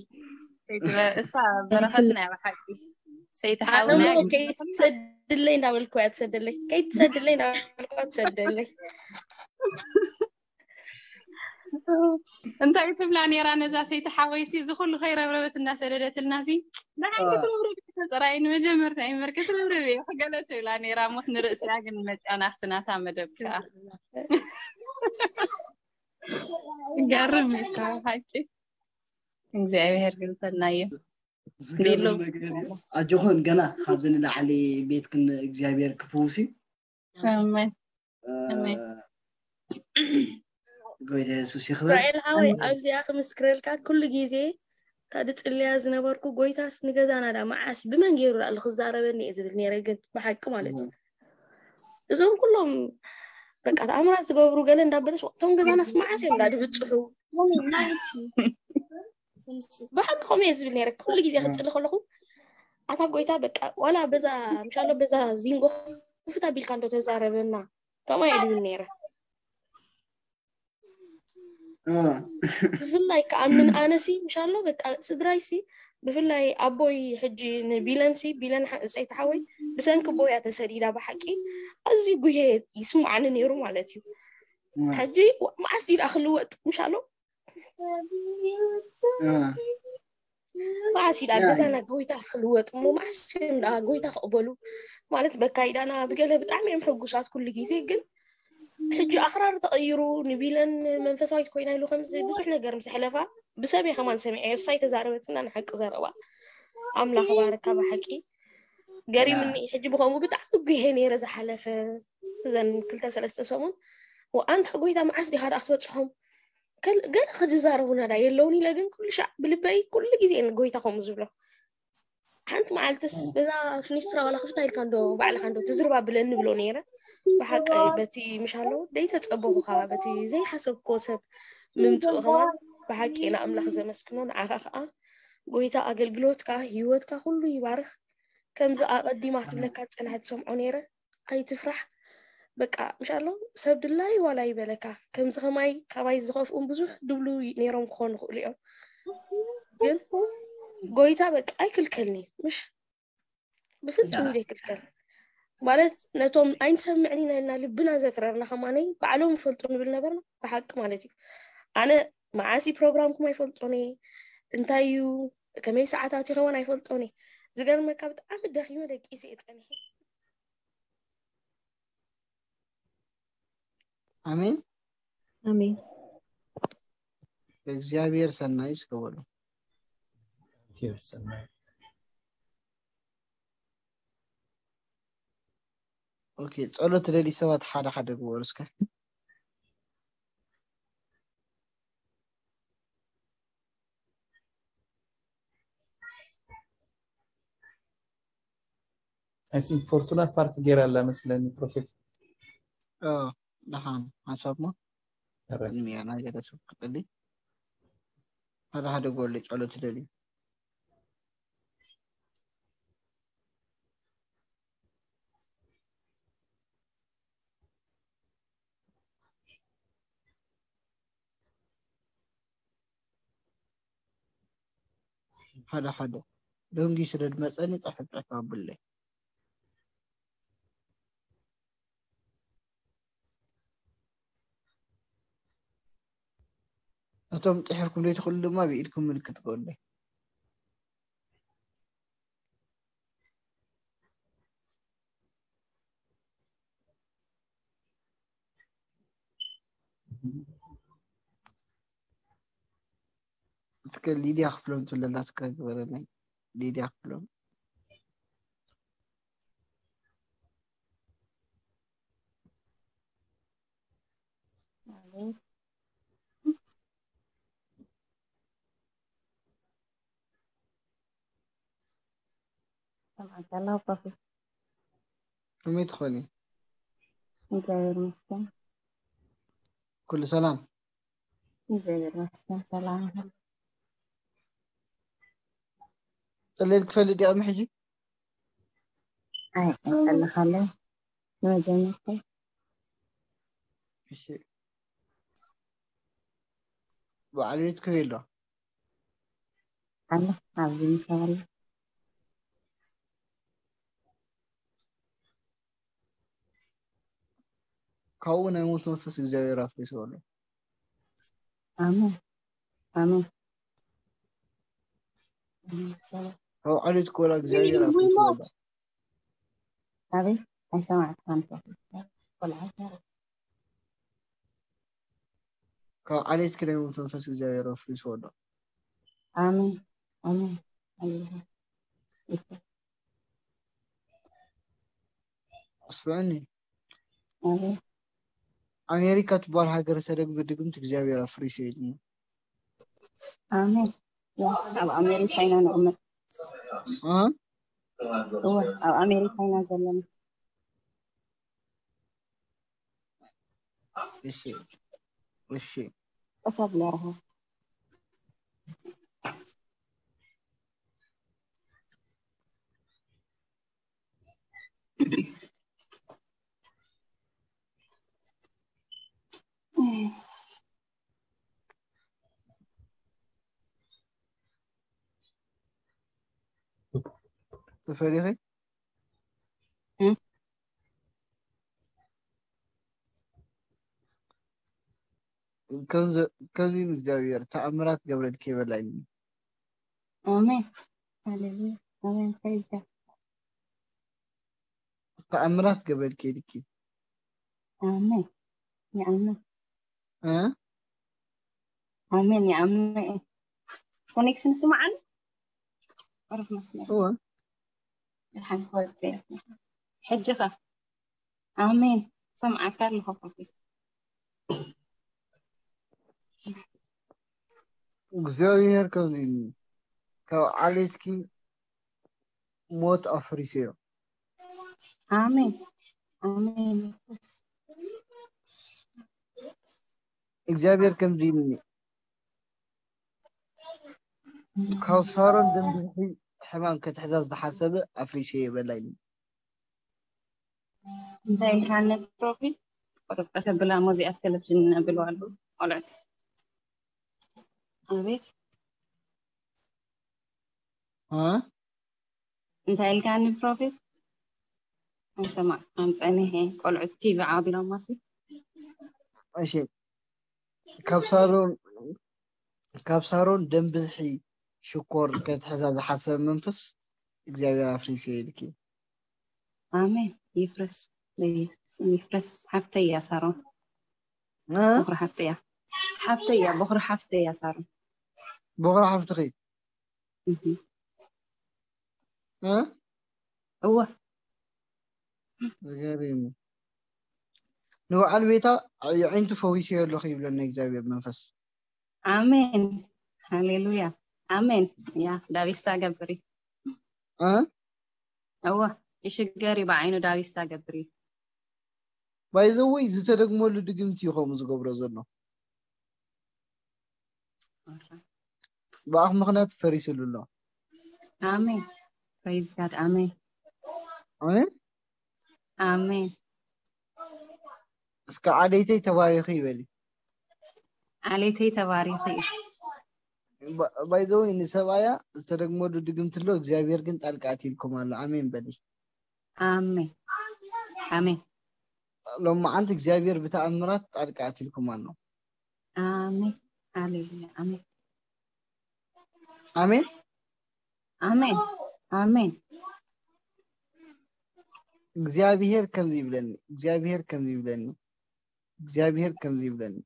ከይትበ-፣ እሳ በረኸትና እያ ብሓቂ። ሰይቲ ኣነ ሓውና እሞ ከይትሰድለይ እንዳበልኩ እያ ትሰደለይ፣ ከይትሰድለይ እንዳበልኩ እያ ትሰደለይ። እንታይ ትብላ ነይራ ነዛ ሰይቲ ሓወይሲ? እዚ ኩሉ ከይረብረበት እንዳሰደደትልና ሲ ንዓይ አ። ክትረብረብ እየ ተፀራይ ንመጀመርታ እምበር ክትረብረብ እየ ገለ ትብላ ነይራ። ሞት ንርእስያ ግን መፅያ ናብቲ ናታ መደብ ከዓ ገርም እዩ ካብ ሓቂ። እግዚኣብሔር ግን ሰናይ እዩ። ቢሉ ዝገርም ነገር እዩ። ኣጆኹን ገና ካብዚ ንላዕሊ ቤትክን እግዚኣብሔር ክፍውስ እዩ። ኣሜን እ፣ ኣሜን። ጎይታ የሱስ ይኽበር። እስራኤል ሓወይ ኣሜን። ኣብዚኣ ክምስክረልካ ኩሉ ግዜ እታ ድጽልያ ዝነበርኩ ጎይታስ ንገዛና ዳ መዓስ ብመን ገይሩ ዳኣ ክዛረበኒ እየ ዝብል ነይረ፣ ግን ብሓቂ ማለት እዩ። እም። እዞም ኩሎም በቃ ተኣምራት ዝገብሩ ገለ እንዳበለስ እቶም ገዛናስ መዓስ እዮም ዳ ድብጽሑ? ብሓቂ ከምኡ እየ ዝብል ነይረ። ኩሉ ግዜ ክጽሊ ከለኹ ኣታ ጎይታ በቃ ዋላ በዛ ምሻሎ በዛ ዚንጎ ክፉት ኣቢልካ እንዶ ተዛረበና ከምኡ እየ ዝብል ነይረ። እ። ብፍላይ ከዓ ምን ኣነሲ ምሻሎ በቃ ስድራይሲ ብፍላይ ኣቦይ ሕጂ ንቢለንሲ ቢለን ሓ- ሰይቲ ሓወይ ብሰንኪ ቦያ ተሰዲዳ ብሓቂ ኣዝዩ ጉሄ ይስማዓኒ ነይሩ ማለት እዩ። እ። ሕጂ መዓስ ድዩ ደኣ ክልወጥ ምሻሎ እ። መዓስ እዩ ደኣ ያ፣ ገዛና ጎይታ ክልወጥ እሞ መዓስ እዮም ደኣ ጎይታ ክቕበሉ ማለት በካይዳና ብገለ ብጣዕሚ እዮም ሕጉሳት ኩሉ ግዜ ግን ሕጂ ኣኽራሪ ተቐይሩ ንቢለን መንፈሳዊት ኮይና ኢሉ ከምዚ ብዙሕ ነገር ምስ ሕለፋ ብሰብ እየ ከማን ሰሚዐ እሳይ ተዛረበትና ንሓቂ ዘረባ ኣምላኽ ባረካ ብሓቂ ገሪምኒ ሕጂ ብኸምኡ ብጣዕሚ ጉሄ ነይረ ዝሓለፈ እዘን ክልተ ሰለስተ ሰሙን ወኣንታ ጎይታ መዓስ ዲኻ ደኣ ክትበፅሖም ከል- ገለ ክዝዛረቡና ዳ የለውን ኢለ ግን ኩሉ ሻዕ ብልበይ ኩሉ ግዜ ንጎይታ ከምኡ ዝብሎ ሓንቲ መዓልትስ በዛ ፍኒስትራ ዋላ ክፍታ ኢልካ እንዶ ባዕልካ እንዶ ትዝርባ ብለኒ ብሎ ነይረ ብሓቂ በቲ ምሻሎ ደይተፀበኹ ከዓ በቲ ዘይሓሰብክዎ ሰብ ምምፅኡ ከማን ብሓቂ ንኣምላኽ ዘመስግኖ ንዓኻ ከዓ ጎይታ ኣገልግሎትካ ህይወትካ ኩሉ ይባርኽ ከምዚ ኣቐዲማ ክትብለካ ዝፀንሐት ሰምዖ ነይረ ኣይትፍራሕ በቃ ምሻ ኣሎ ሰብ ድላይ ዋላ ይበለካ። ከምዚ ከማይ ካባይ ዝኸፍኡን ብዙሕ ድብሉ ነይሮም ክኾኑ ይኽእሉ እዮም። ግን ጎይታ በቃ ኣይክልከልኒ ምሽ ብፍጹም ዘይክልከል ማለት ነቶም ኣይንሰምዕን ኢና ኢልና ልብና ዘትረርና ከማነይ ባዕሎም ይፈልጡ ንብል ነበርና። ብሓቂ ማለት እዩ። ኣነ መዓስ እዩ ፕሮግራምኩም ኣይፈልጦን እየ። እንታይ እዩ ከመይ ሰዓታት ይኸውን ኣይፈልጦን እየ። ዝገርመካ ብጣዕሚ ደኺመ ደቂሰ እየ ጸኒሐ። ኣሜን። ኣሜን። እግዚኣብሔር ሰናይ እስከ በሉ። ኦኬ፣ ጸሎት ትደሊ ሰባት ሓደ ሓደ ግበሩ እስከ። I think ፎርቱና ፓርቲ ገይራ ኣላ መስለኒ ፕሮፌት። ኦ፣ ደሓን ሓሳብ ሞ ኧረ፣ ቅድሚያ ናይ ገለ ሰብ ክጽሊ ሓደ ሓደ ጎል ጸሎት ትደሊ። ሓደ ሓደ ደንጊ ስለ ዝመፀኒ ፀሕፍ ፀሕፍ ኣብለይ። እቶም ፅሒፍኩም ዘይትኽእሉ ድማ ብኢድኩም ምልክት ገበሩለይ። እስከ ሊድያ ክፍሎም ትብለላ እስከ ግበረለይ። ሊድያ ክፍሎም። ሰምዓካ ኣለኹ ፕሮፌት። ከመይ ትኾኒ? እግዚኣብሔር ይመስገን። ኩሉ ሰላም? እግዚኣብሔር ይመስገን ሰላም ይኹን። ጸለይት ክፈልጥ ድያ ቅድሚ ሕጂ? ኣይ ኣይጸለኻለይ ንመጀመርታይ። እሺ። በዓል ቤት ከመይ ኣሎ? ኣሎ ኣብዚ ምሳይ ኣሎ። ካብኡ ናይ ሞት መንፈስ እግዚኣብሔር ኣፍሪስዎ ኣሎ። ኣሜን ኣሜን። ኣሜን። ሰላም ካብ ዓሌት ኮላ እግዚኣብሔር ኣፍሪስዎ ኣሎ። ኣበይ ኣይሰማዕካን ቆልዓ። ካብ ዓሌት ናይ ሞት መንፈስ እግዚኣብሔር ኣፍሪስዎ ኣሎ። ኣሜን ኣሜን። ኣሜን። ስምዕኒ ኣሜን። ኣሜሪካ ትበሃል ሃገር ሰደግ ብድግምት እግዚኣብሔር ኣፍሪስዎ ኢሉኒ። ኣሜን። ያ፣ ኣብ ኣሜሪካ ኢና ንቕመጥ። እ? እወ ኣብ ኣሜሪካ ኢና ዘለና። እሺ እሺ ቀስ ኣብለ ርሃ። ተፈሪኺ እ? ከምዚ ንእግዚኣብሔር ተኣምራት ገብረልኪ ይበላይኒ። ኣሜን ሃሌሉያ ኣሜን። ፕሬዝ ጋድ። ተኣምራት ገብረልኪ ኢልኪ። ኣሜን። ይኣምን። እ? ኣሜን። ይኣምን። ኮኔክሽን ስማዓን። ዕርፍ መስመር። እወ። ድሓን ክወፅእ እየ። ሕጂ ኸ? ኣሜን። ሰምዓካ ኣለኹ ፕሮፌሰር። እግዚኣብሔር ከምዚ ኢሉ ካብ ዓሌትኪ ሞት ኣፍሪሰዮ። ኣሜን። ኣሜን። እግዚኣብሔር ከምዚ ኢሉኒ ካብ ሳሮን ደም ብዝሒ ሕማም ክትሕዛ ዝተሓሰበ ኣፍሪሰዮ በላ ኢሉኒ። እንታይ ኢልካኒ ፕሮፊት? ቁሩብ ቀስ ኣብላ፣ ሞዚኣት ቴሌቪዥን ብለዋሉ ቆልዑት። ኣቤት። እ? እንታይ ኢልካኒ ፕሮፊት? ኣይሰማዕካን፣ ጸኒሐ። ቆልዑት ቲቪ ዓቢሮማሲ። እሺ፣ ካብ ሳሮን ካብ ሳሮን ደም ብዝሒ ሽኮር ከትሕዛ ዝሓሰበ መንፈስ እግዚኣብሔር ኣፍሪሱ ኢልኪ። ኣሜን። ይፍረስ፣ በኢየሱስ ስም ይፍረስ። ሓፍተይ እያ ሳሮን። እ? ቦኽሪ ሓፍተይ እያ። ሓፍተይ እያ፣ ቦኽሪ ሓፍተይ እያ ሳሮን። ቦኽሪ ሓፍትኺ? እህ። እ? እወ። ገሪሙ። ንበዓል ቤታ የዒንቱ ፈዊሰዮ ኣለኹ ይብለኒ እግዚኣብሔር መንፈስ። ኣሜን። ሃሌሉያ። ኣሜን። ያ ዳቢሳ ገብሪ። እ? እወ። ይሽገር እዩ ብዓይኑ ዳቢሳ ገብሪ። ባይዘወይ ዝተደግመሉ ድግምቲ እዩ ከምኡ ዝገብሮ ዘሎ። ብኣኽ ምኽንያት ፈሪስሉ ኣሎ። ኣሜን። Praise God። ኣሜን። ኣሜን። ኣሜን። እስከ ዓሌተይ ተባሪኺ ይበሊ። ዓሌተይ ተባሪኺ እዩ። ባይዘወይ ንሰብኣያ ዝተደግመሉ ድግምቲ ኣሎ፣ እግዚኣብሔር ግን ጣልቃ ኣትይልኩም ኣሎ። ኣሜን በሊ። ኣሜን። ኣሜን። ሎማዓንቲ እግዚኣብሔር ብተኣምራት ጣልቃ ኣትይልኩም ኣሎ። ኣሜን። ሃሌሉያ። ኣሜን። ኣሜን። ኣሜን። ኣሜን። እግዚኣብሔር ከምዚ ይብለኒ፣ እግዚኣብሔር ከምዚ ይብለኒ፣ እግዚኣብሔር ከምዚ ይብለኒ።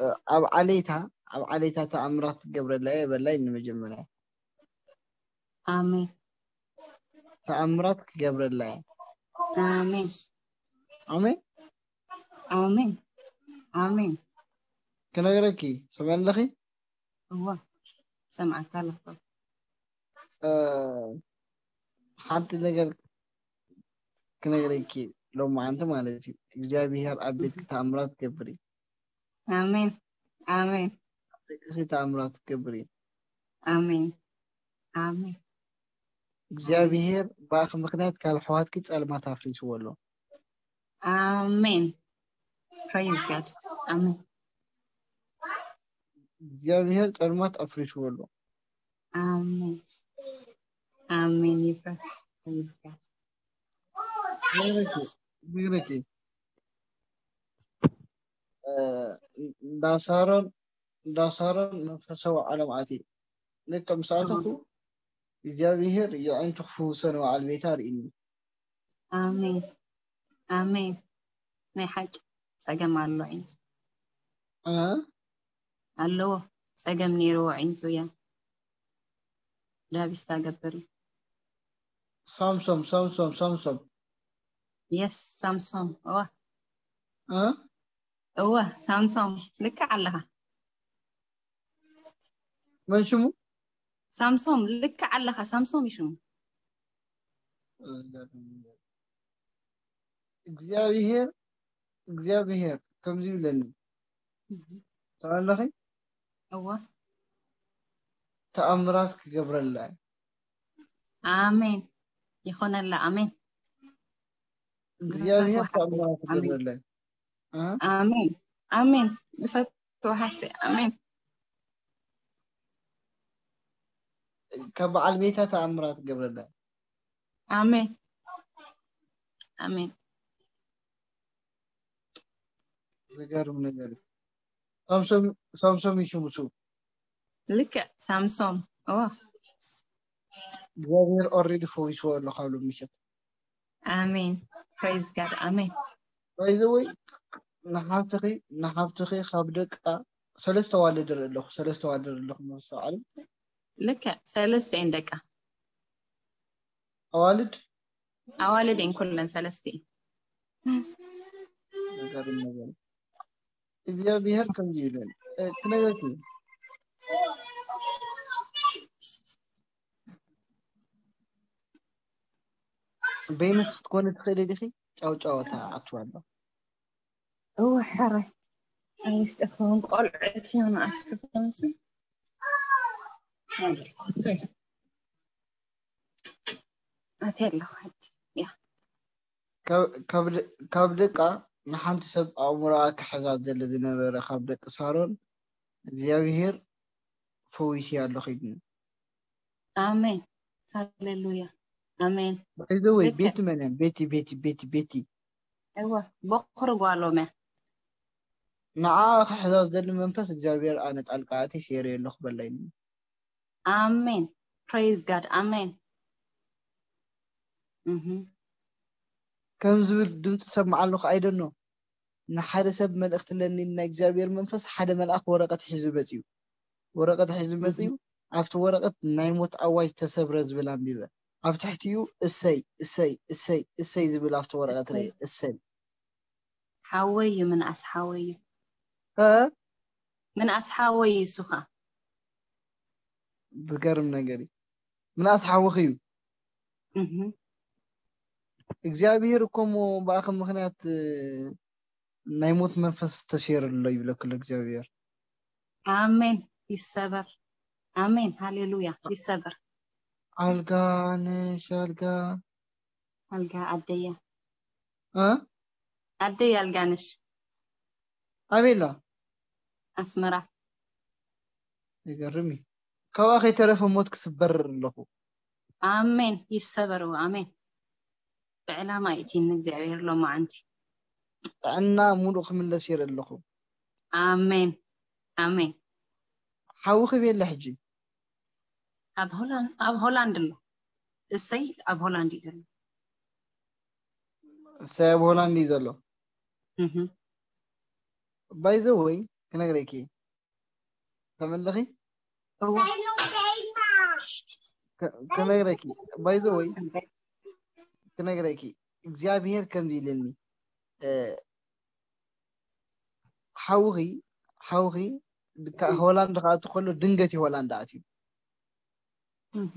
እ፣ ኣብ ዓሌታ፣ ኣብ ዓሌታ ተኣምራት ክገብረላ እየ በላይ ንመጀመርያ። ኣሜን። ተኣምራት ክገብረላ እየ። ኣሜን። ኣሜን። ኣሜን። ኣሜን። ክነግረኪ፣ ስምዒ ኣለኺ? እወ። ሰምዓካ ኣለኹ። እ፣ ሓንቲ ነገር ክነግረኪ፣ ሎማዓንቲ ማለት እዩ። እግዚኣብሔር ኣብ ቤትኪ ተኣምራት ክገብር እዩ። ኣሜን። ኣሜን። ደቅኺ ተኣምራት ክገብር እዩ። ኣሜን። ኣሜን። እግዚኣብሔር ብኣኺ ምኽንያት ካብ ኣሕዋትኪ ጸልማት ኣፍሪስዎ ኣሎ። ኣሜን። Praise God። ኣሜን። እግዚኣብሔር ጸልማት ኣፍሪስዎ ኣሎ። ኣሜን። ኣሜን። ይፍረስ። Praise God። ነግረኪ፣ ነግረኪ። እ፣ እንዳ ሳሮን፣ እንዳ ሳሮን መንፈሳዊ ዓለም ኣትዩ። ልክዕ ምስ ኣተኹ እግዚኣብሔር የዒንቱ ክፍውሰ ንበዓል ቤታ ርእይኒ። ኣሜን። ኣሜን። ናይ ሓቂ ጸገም ኣሎ ዒንቱ። እ? ኣለዎ። ጸገም ነይርዎ ዒንቱ እያ። ዳቢስታ ገብር እዩ። ሳምሶም፣ ሳምሶም፣ ሳምሶም። የስ፣ ሳምሶም። እወ። እ? እወ፣ ሳምሶም። ልክዕ ኣለኻ። መን ሽሙ? ሳምሶም፣ ልክዕ ኣለኻ። ሳምሶም እዩ ሽሙ። እግዚኣብሔር፣ እግዚኣብሔር ከምዚ ይብለኒ። ትሰምዒ ኣለኺ? እወ። ተኣምራት ክገብረላ እዩ። ኣሜን። ይኾነላ። ኣሜን። እግዚኣብሔር ዝፈትዎ ሓቂ። ተኣምራት ኣሜን። ክገብረላ እዩ። እ? ኣሜን። ኣሜን። ዝፈትዎ ሓቂ። ኣሜን። ካብ በዓል ቤታ ተኣምራት ክገብረላ እዩ። ኣሜን። ኣሜን። ዝገርም ነገር እዩ። ሳምሶም፣ ሳምሶም እዩ ሽሙ። ልክዕ ሳምሶም። እወ። እግዚኣብሔር ኦልሬዲ ፈዊስዎ ኣሎ ካብ ሎሚ ምሸት። ኣሜን። Praise God። ኣሜን። ባይ ዘ ወይ ንሓፍትኺ፣ ንሓፍትኺ ካብ ደቃ ሰለስተ ኣዋልድ ርኢ ኣለኹ፣ ሰለስተ ኣዋልድ ርኢ ኣለኹ መስተውዓሊ። ልክዕ ሰለስተ እየን ደቃ። ኣዋልድ? ኣዋልድ እየን ኩለን ሰለስተ እየን። ዝገርም ነገር። እግዚኣብሔር ከምዚ ይብለኒ፣ እ፣ ክነግረኪ። በይንኺ ክትኮኒ ትኽእሊ ዲኺ? ጫውጫወታ ኣትዋ ኣሎ። እወ፣ ሕራይ። ኣብ ውሽጢ ክኸውን ቆልዑት እዮም ንኣሽቱ ክኾኑሲ። ኣትየ ኣለኹ ሕጂ። ያ። ካብ ደቃ ንሓንቲ ሰብ ኣእምሮኣ ክሕዛ ዘለ ዝነበረ ካብ ደቂ ሳሮን እግዚኣብሄር ፈዊስያ ኣሎ ኺድኒ። ኣሜን ሃሌሉያ ኣሜን። ባይዘወይ ቤቲ መን እያ? ቤቲ ቤቲ ቤቲ ቤቲ እወ ቦኽሪ ጓሎም እያ። ንዓ ክሕዛ ዘሊ መንፈስ እግዚኣብሄር ኣነ ጣልቃ ኣትየ ሰይረዮ ኣለኹ በለኒ። ኣሜን praise God ኣሜን። ከም ዝብል ድምፂ ሰምዓ ኣለኹ። I don't know ንሓደ ሰብ መልእኽቲ ለኒ ናይ እግዚኣብሔር መንፈስ ሓደ መልኣኽ ወረቐት ሒዙ መፅዩ። ወረቐት ሒዙ መፅዩ ኣብቲ ወረቐት ናይ ሞት ኣዋጅ ተሰብረ ዝብል ኣንቢበ። ኣብ ትሕቲኡ እሰይ እሰይ እሰይ እሰይ ዝብል ኣብቲ ወረቐት ርኤ። እሰይ ሓወይ እዩ ምንኣስ ሓወይ እዩ። እ ምንኣስ ሓወይ እዩ እሱ ኸዓ። ዝገርም ነገር እዩ። ምንኣስ ሓውኺ እዩ። እህ እግዚኣብሔር እኮ እሞ ብኣኺ ምኽንያት ናይ ሞት መንፈስ ተሰይሩ ኣሎ ይብለኪ ኣሎ እግዚኣብሔር። ኣሜን ይሰበር። ኣሜን ሃሌሉያ ይሰበር። ኣልጋ ነሽ ኣልጋ ኣልጋ ኣደየ እ ኣደየ ኣልጋ ነሽ ኣበይ ኣላ? ኣስመራ። ይገርም እዩ። ካብኣ ከይተረፈ ሞት ክስበር ኣለኹ። ኣሜን ይሰበር እወ ኣሜን። ብዕላማ እዩ እቲ ንእግዚኣብሔር ሎማዓንቲ። ጥዕና ሙሉእ ክምለስ ይርኢ ኣለኹ። ኣሜን ኣሜን። ሓውኺ ኣበይ ኣሎ ሕጂ? ኣብ ሆላንድ ኣብ ሆላንድ ኣሎ። እሰይ ኣብ ሆላንድ እዩ ዘሎ። እሰይ ኣብ ሆላንድ እዩ ዘሎ። እህ by the way ክነግረኪ ተመለኺ እወ ክ- ክነግረኪ by the way ክነግረኪ እግዚኣብሔር ከምዚ ኢልኒ እ፣ ሓውኺ ሓውኺ ካ- ሆላንድ ክኣቱ ከሎ ድንገት እዩ ሆላንድ ኣትዩ። እህ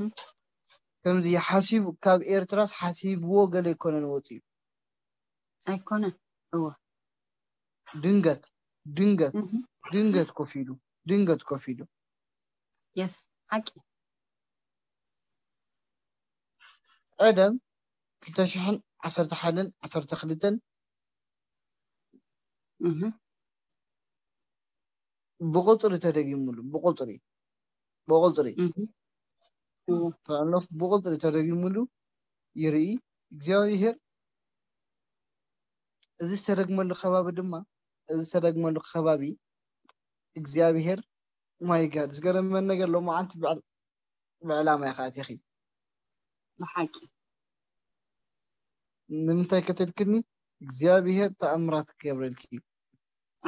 ከምዚ ሓሲቡ ካብ ኤርትራስ ሓሲብዎ ገለ ኣይኮነን ወፂኡ። ኣይኮነን እወ ድንገት ድንገት እህ ድንገት ኮፍ ኢሉ ድንገት ኮፍ ኢሉ yes ሓቂ ቀደም ክልተ ሽሕን ዓሰርተ ሓደን ዓሰርተ ክልተን እህ ብቁፅሪ ተደጊሙሉ ብቁፅሪ ብቁፅሪ እህ እወ ተኣለፍ ብቁፅሪ ተደጊሙሉ ይርኢ እግዚኣብሔር። እዚ ዝተደግመሉ ከባቢ ድማ እዚ ዝተደግመሉ ከባቢ እግዚኣብሔር my God ዝገረመን ነገር ሎማዓንቲ ብዕል- ብዕላማ ኢኻ ኣቲኺ። ብሓቂ ንምንታይ ከተልክኒ እግዚኣብሔር ተኣምራት ክገብረልኪ እዩ።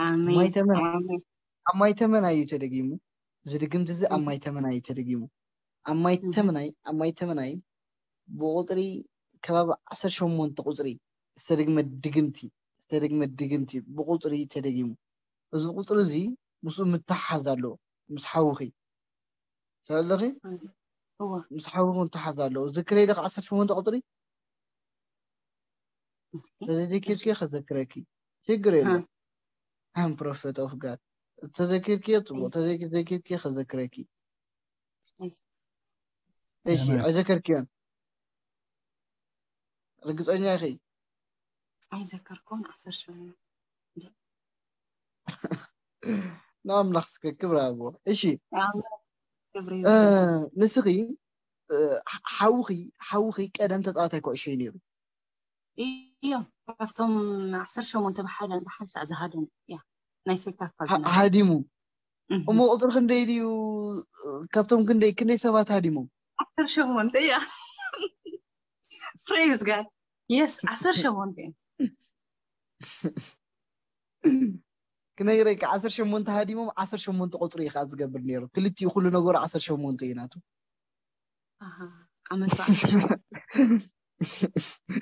ኣሜን ማይ ተመን- ኣሜን ኣብ ማይ ተመን እዩ ተደጊሙ። እዚ ድግምቲ እዚ ኣብ ማይ ተመን እዩ ተደጊሙ። ኣብ ማይ ተመናይ ኣብ ማይ ተመናይ ብቁፅሪ ከባቢ ዓሰርተ ሸሞንተ ቁፅሪ ዝተደግመ ድግምቲ ዝተደግመ ድግምቲ ብቁፅሪ ተደጊሙ። እዚ ቁፅሪ እዚ ምስኡ ምትሓዝ ኣለዎ ምስ ሓውኺ ተለኺ እወ ምስ ሓውኺ ምትሓዝ ኣለዎ። ዝክረይ ዶ ዓሰርተ ሸሞንተ ቁፅሪ ተዘይዘኪርኪ ከዘክረኪ ችግር የለ። I'm prophet of God ተዘኪርኪ ፅቡቅ ተዘይዘኪርኪ ከዘክረኪ። እሺ ኣይዘከርክዮን ርግፀኛ ኢኺ? ኣይዘከርኩን ዓሰርተ ሸሞንተ ንኣምላኽ እስከ ክብሪ ኣቦ። እሺ ኣምላኽ ክብሪ ይውሰድ። ንስኺ ሓውኺ ሓውኺ ቀደም ተፃዋታይ ኩዕሾ እዩ ነይሩ። እዮም ካብቶም ዓሰርተ ሸሞንተ ብሓደ ብሓንሳእ ዝሃደሙ እያ ናይ ሴካፋ ዝነበሩ። ሃዲሙ እህ። እሞ ቁፅሪ ክንደይ ድዩ? ካብቶም ክንደይ ክንደይ ሰባት ሃዲሞም? ዓሰርተ ሸሞንተ እያ። Praise God yes ዓሰርተ ሸሞንተ እዮም። ክነግረኪ ዓሰርተ ሸሞንተ ሃዲሞም ዓሰርተ ሸሞንተ ቁፅሪ እዩ ከዓ ዝገብር ነይሩ። ክልቲኡ ኩሉ ነገሩ ዓሰርተ ሸሞንተ እዩ ናቱ። ኣሃ፣ ዓመቱ ዓሰርተ ሸሞንተ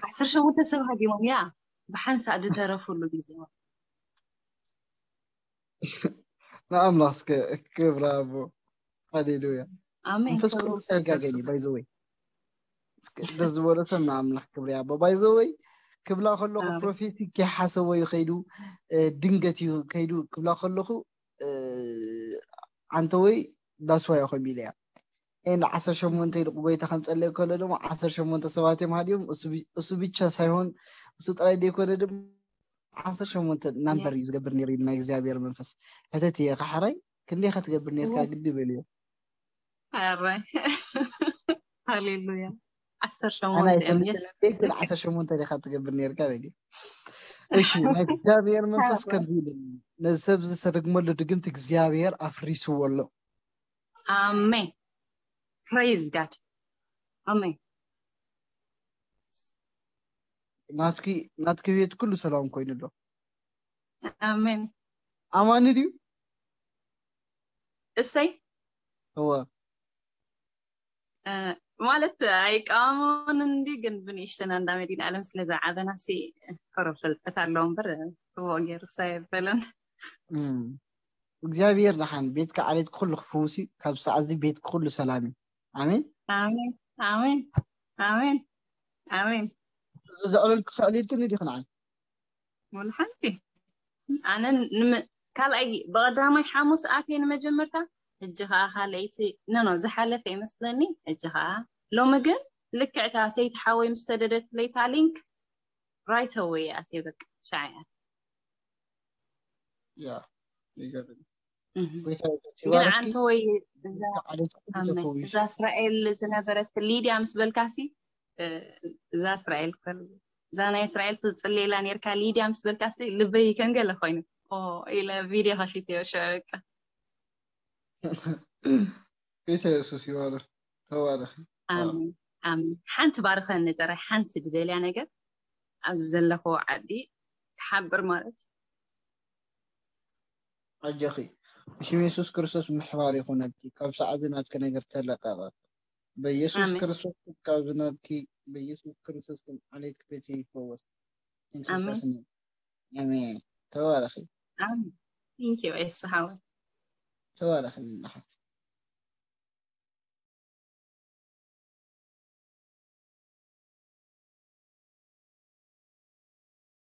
ዓሰርተ ሸሞንተ ሰብ ሃዲሞም እያ ብሓንሳእ ዝተረፉሉ ግዜ። ንኣምላኽ እስከ ክብሪ ኣቦ። ሃሌሉያ። ኣሜን መንፈስ ክብሪ ቅዱስ ውሰድ ኣይጋገን እዩ ንሱ። ባይዘወይ። ደስ ዝበሎ ሰብ ንኣምላኽ ክብሪ ኣቦ ባይዘወይ። ክብላ ከለኹ ኣሜን። ፕሮፌሲ ከይሓሰቦ እዩ ከይዱ እ፣ ድንገት እዩ ከይዱ ክብላ ከለኹ እ፣ ዓንተወይ ዳስዋ እዮም ኢለ እያ። ኤንድ ዓሰርተ ሸሞንተ ኢሉ ጎይታ ከም ጸለየ ከሎ ድማ ዓሰርተ ሸሞንተ ሰባት እዮም ሃዲዮም። እሱ ቢ- እሱ ብቻ ሳይሆን እሱ ጥራይ ዘይኮነ ድማ ዓሰርተ ሸሞንተ ናምበር እዩ ዝገብር ነይሩ ኢልና እግዚኣብሔር መንፈስ። ሕተት እየ ካሕራይ ክንደይ ከትገብር ነይርካ ግዲ በልዮ። ኣራይ ሃሌሉያ። ዓሰርተ ሸሞንተ እዮም። የስ ግን ዓሰርተ ሸሞንተ ዲኻ ትገብር ነይርካ በልዮ። እሺ ናይ እግዚኣብሔር መንፈስ ከምዚ ኢሉ ነዚ ሰብ ዝሰደግመሉ ድግምቲ እግዚኣብሔር ኣፍሪስዎ ኣሎ። ኣሜን። ፕሬዝ ጋድ። ኣሜን። ናትኪ ናትኪ ቤት ኩሉ ሰላም ኮይኑ ኣሎ። ኣሜን። ኣማኒ ድዩ? እሰይ እወ ማለት ኣይቃወሞን እንዲ ግን ብንእሽተና እንዳ መዲና ዓለም ስለ ዝዓበና ሲ ከሮ ፍልጠት ኣለዎ እምበር ክቦ ገይሩ ሳ የበለን። እግዚኣብሔር ደሓን ቤትካ ዓሌት ኩሉ ክፍውስ እዩ። ካብ ሰዓት እዚ ቤት ኩሉ ሰላም እዩ። ኣሜን። ኣሜን ኣሜን ኣሜን ኣሜን። ዘዕለልኩ ሰዕሊልክኒ ዲኺ ንዓይ? ወላ ሓንቲ ኣነ ካልኣይ ብቐዳማይ ሓሙስ ኣትየ ንመጀመርታ ሕጂ ከዓ ካልኣይቲ ነኖ ዝሓለፈ ይመስለኒ። ሕጂ ከዓ ሎሚ ግን ልክዕታ ሰይቲ ሓወይ ምስ ተደደትለይታ ሊንክ ራይት ኣወይ ኣትየ በቃ ሻዓያት ያ ይገርም። ግን ዓንተ ወይ እዛ እስራኤል ዝነበረት ሊድያ ምስ በልካሲ እዛ እስራኤል እዛ ናይ እስራኤል ትፅሌላ ነርካ ሊድያ ምስ በልካሲ ልበይ ከንገለ ኮይኑ ኢለ ቪድዮ ከፊት እዮ ሸበቃ ጌታ የሱስ ይባረክ። ተባረክ። ኣሜን። ሓንቲ ባርኸኒ ጥራይ ሓንቲ ዝደልያ ነገር ኣብዚ ዘለኹዎ ዓዲ ክሓብር ማለት ኣጆኺ ብሽም የሱስ ክርስቶስ ምሕባር ይኹነልኪ። ካብ ሰዓት ናትኪ ነገር ተለቀቐ በኢየሱስ ክርስቶስ። ካብ ዝናትኪ በኢየሱስ ክርስቶስ ስም ዓሌትኪ ቤት ይፈወስ። ኣሜን። ተባረኺ። ቴንኪዩ ኤሱ ሓወይ። ተባረኺ ንሓት።